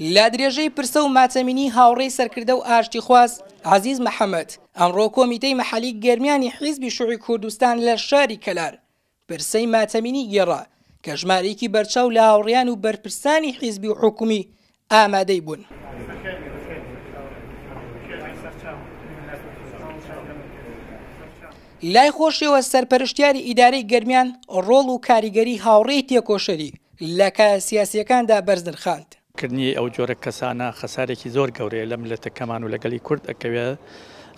لە درێژەی پرسە و ماتەمینی هاوڕێی سەرکردە و ئاشتیخواز عەزیز محەمەد، ئەمڕۆ کۆمیتەی مەحەلی گەرمیانی حیزبی شوعی کوردستان لە شاری کەلار پرسەی ماتەمینی گێڕا کە ژمارەیەکی بەرچاو لە هاوڕێیان و بەرپرسانی حیزبی و حکومی ئامادەی بوون. لای خۆشیەوە سەرپەرشتیاری ئیدارەی گەرمیان ڕۆڵ و کاریگەری هاوڕێی تێکۆشەری لە کایە سیاسییەکاندا بەرز نرخاند. کردنی ئەو جۆرە کەسانە خەسارێکی زۆر گەورەیە لە میللەتەکەمان و لە گەلی کورد ئەکەوێ،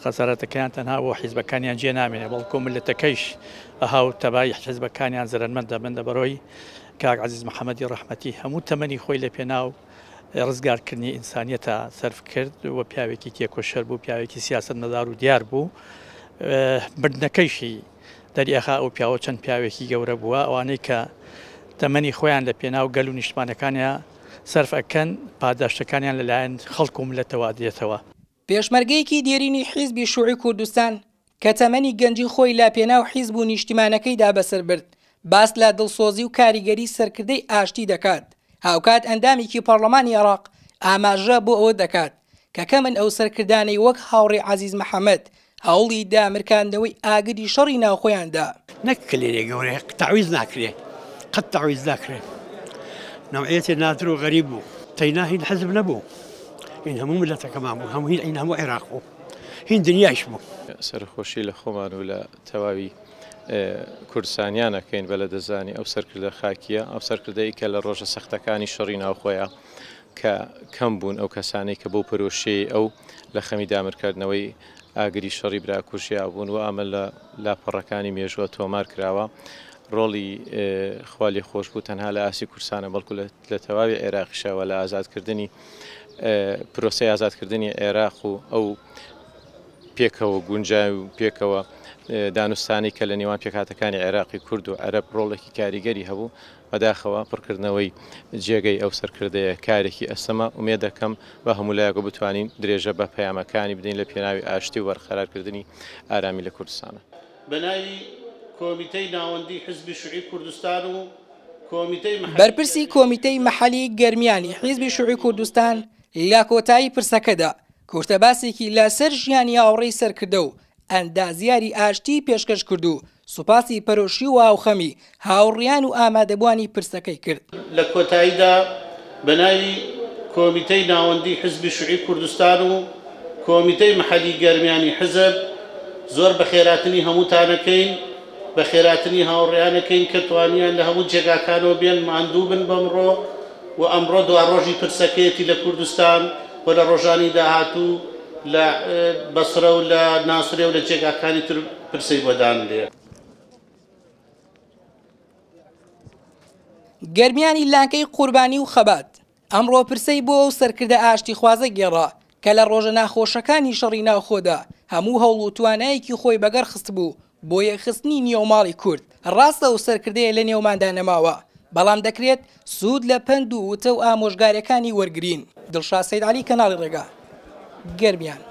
خەسارەتەکەیان تەنها بۆ حیزبەکانیان جێ نامێنێ بەڵکۆ میللەتەکەیش بە هاو تەبایی حیزبەکانیان زەرەرمەند دەبن، لەبەرئەوەی کاک عەزیز محەمەدی ڕەحمەتی هەموو تەمەنی خۆی لە پێناو ڕزگارکردنی ئینسانیەتا سەرف کرد و پیاوێکی تێکۆشەر بوو، پیاوێکی سیاسەتمەدار و دیار بوو، مردنەکەیشی دەریئەخا ئەو پیاوە چەند پیاوێکی گەورە بووە، ئەوانەی کە تەمەنی خۆیان لە پێناو گەل و نیشتمانەکانیا سەرف ئەکەن پاداشتەکانیان لە لایەن خەڵک و مللەتەوە ئەدرێتەوە. پێشمەرگەیەکی دێرینی حیزبی شوعی کوردستان کە تەمەنی گەنجی خۆی لە پێناو حیزب و نیشتیمانەکەیدا بەسەر برد، باس لە دڵسۆزی و کاریگەری سەرکردەی ئاشتی دەکات، هاوکات ئەندامێکی پەڕلەمانی عێراق ئاماژە بۆ ئەوە دەکات کە کەمن ئەو سەرکردانەی وەک هاوڕێ عەزیز محەمەد هەوڵی دامرکاندنەوەی ئاگری شەڕی ناوخۆیان دا. نەک کلێنێ گەورەیە تەعویز ناکرێ قەت تەعویز ناکرێ نەوعیەتێ نادر و غەریب بوو تەینا هین حزب نەبوو هین هەموو ملەتەکەمان بوو هەموو هین هەموو عێراق بوو هین دنیایش بوو. سەرەخۆشی لە خۆمان و لە تەواوی کوردستانیان ئەکەین بە لەدەستدانی ئەو سەرکردە خاکییە، ئەو سەرکردەی کە لە ڕۆژە سەختەکانی شەڕی ناوخۆیە کە کەم بوون ئەو کەسانەی کە بەو پەرۆشیەی ئەو لە خەمی دامرکاندنەوەی ئاگری شەڕی براکوژیا بوون و ئەمە لە لاپەڕەکانی مێژووە تۆمار کراوە. ڕۆڵی خوا لێخۆشبوو تەنها لە ئاستی کوردستانە بەڵکو لە تەواوی عێراقیشە و لە ئازادکردنی پرۆسەی ئازادکردنی عێراق و ئەو پێکەوە گونجاوی و پێکەوە دانوستانی کە لە نێوان پێکهاتەکانی عێراقی کورد و عەرەب ڕۆڵێکی کاریگەری هەبوو بەداخەوە پڕکردنەوەی جێگەی ئەو سەرکردەیە کارێکی ئەستەمە، ئومێد دەکەم بە هەموو لایەکەوە بتوانین درێژە بە پەیامەکانی بدەین لە پێناوی ئاشتی و بەرقەرارکردنی ئارامی لە کوردستان. بە ناوی کۆمیتەی ناوەندی حیزبی شوعی کوردستان و کۆمیتەی مەحەلی بەرپرسی کۆمیتەی مەحەلی گەرمیانی حیزبی شوعی کوردستان لە کۆتایی پرسەکەدا کورتە باسێکی لە سەر ژیانی هاوڕێی سەرکردە و ئەندازیاری ئاشتی پێشکەش کرد و سوپاسی پەرۆشی و هاوخەمی هاوڕیان و ئامادەبووانی پرسەکەی کرد. لە کۆتاییدا بە ناوی کۆمیتەی ناوەندی حزبی شوعی کوردستان و کۆمیتەی مەحەلی گەرمیانی حزب زۆر بەخێراتنی هەمووتان ئەکەین، بەخێراتنی هاوڕێیان ئەکەین کە توانیان لە هەموو جێگاکانەوە بێن ماندوو بن بەمڕۆ و ئەمڕۆ دواڕۆژی پرسەکەیەتی لە کوردستان و لە ڕۆژانی داهاتوو لە بەسرە و لە ناسرێ و لە جێگاکانی تر پرسەی بۆ دانرێ. گەرمیانی لانکەی قوربانی و خەبات ئەمڕۆ پرسەی بۆ ئەو سەرکردە ئاشتیخوازە گێڕا کە لە ڕۆژە ناخۆشەکانی شەڕی ناوخۆدا هەموو هەوڵ و توانایەکی خۆی بەگەڕ خستبوو بۆ یەکخستنی نێوماڵی کورد. ڕاستە ئەو سەرکردەیە لە نێوماندا نەماوە، بەڵام دەکرێت سوود لە پەند و وتە و ئامۆژگاریەکانی وەرگرین. دڵشاد سەید عەلی، کەناڵی ڕێگا، گەرمیان.